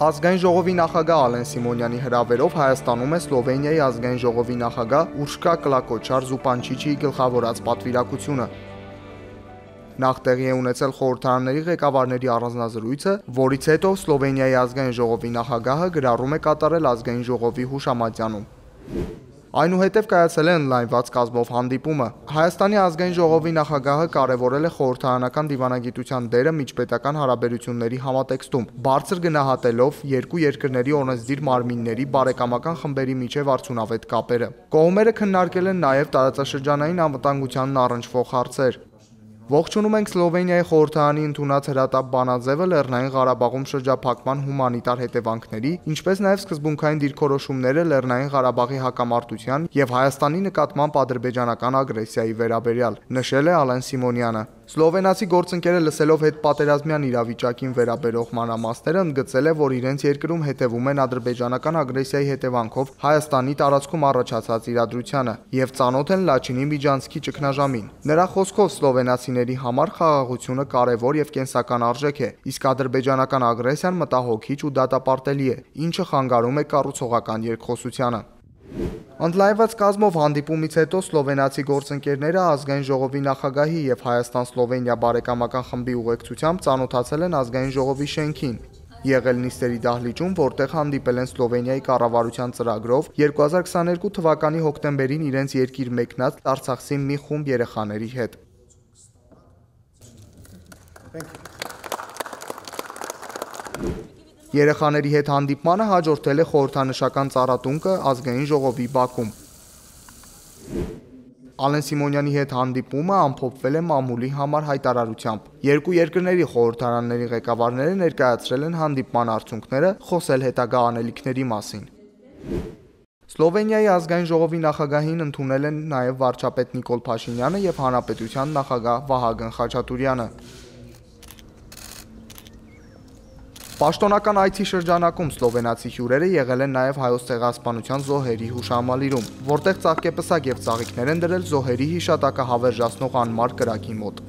Ազգային ժողովի նախագահ Ալեն Սիմոնյանի հրավերով Հայաստանում է Սլովենիայի ազգային ժողովի նախագահ Ուրշկա Կլակոչար Զուպանչիչի գլխավորած պատվիրակությունը։ Նախ տեղի է ունեցել խորհրդարանների ղեկավարների առանձնազրույցը, որից հետո Սլովենիայի ազգային ժողովի նախագահը գրառում է կատարել ազգային ժողովի հուշամատյանում։ Այնուհետև կայացել է օնլայնված կազմով հանդիպումը։ Հայաստանի ազգային ժողովի նախագահը կարևորել է խորհրդարանական դիվանագիտության դերը միջպետական հարաբերությունների համատեքստում, բարձր գնահատելով երկու երկրների օրենսդիր մարմինների բարեկամական խմբերի միջև արդյունավետ կապերը։ Կողմերը քննարկել են նաև տարածաշրջանային անվտանգությանն առնչվող հարցեր։ Ողջունում ենք Սլովենիայի խորհրդարանի ընդունած հրատապ բանաձևը Լեռնային Ղարաբաղում շրջափակման հումանիտար հետևանքների, ինչպես նաև սկզբունքային դիրքորոշումները Լեռնային Ղարաբաղի հակամարտության եւ Հայաստանի նկատմամբ ադրբեջանական ագրեսիայի վերաբերյալ, նշել է Ալեն Սիմոնյանը։ Սլովենացի գործընկերը լսելով հետպատերազմյան իրավիճակին վերաբերող մանրամասները ընդգծել է, որ իրենց երկրում հետևում են ադրբեջանական ագրեսիայի հետևանքով Հայաստանի տարածքում առաջացած իրադրությանը եւ ծանոթ են Լաչինի միջանցքի ճգնաժամին։ Նրա խոսքով սլովենացիների համար խաղաղությունը կարևոր եւ կենսական արժեք է, իսկ ադրբեջանական ագրեսիան մտահոգիչ ու դատապարտելի է, ինչը խանգարում է կառուցողական երկխոսությանը։ Ընդլայնված կազմով հանդիպումից հետո սլովենացի գործընկերները ազգային ժողովի նախագահի եւ Հայաստան-Սլովենիա բարեկամական խմբի ուղեկցությամբ ծանոթացել են ազգային ժողովի շենքին, եղել նիստերի դահլիճում, որտեղ հանդիպել են Սլովենիայի կառավարության ծրագրով 2022 թվականի հոկտեմբերին իրենց երկիր մեկնած Արցախցի մի խումբ երեխաների հետ։ Երեխաների հետ հանդիպմանը հաջորդել է խորհրդանշական ծառատունկը ազգային ժողովի բակում։ Ալեն Սիմոնյանի հետ հանդիպումը ամփոփվել է մամուլի համար հայտարարությամբ։ Երկու երկրների խորհրդարանների ղեկավարները ներկայացրել են հանդիպման արդյունքները, խոսել հետագա անելիքների մասին։ Սլովենիայի ազգային ժողովի նախագահին ընդունել են նաև վարչապետ Նիկոլ Փաշինյանը եւ հանրապետության նախագահ Վահագն Խաչատուրյանը։ Պաշտոնական այցի շրջանակում սլովենացի հյուրերը եղել են նաև հայոց ցեղասպանության զոհերի հուշահամալիրում, որտեղ ծաղկեպսակ եւ ծաղիկներ են դրել զոհերի հիշատակը հավերժացնող անմար կրակի մոտ։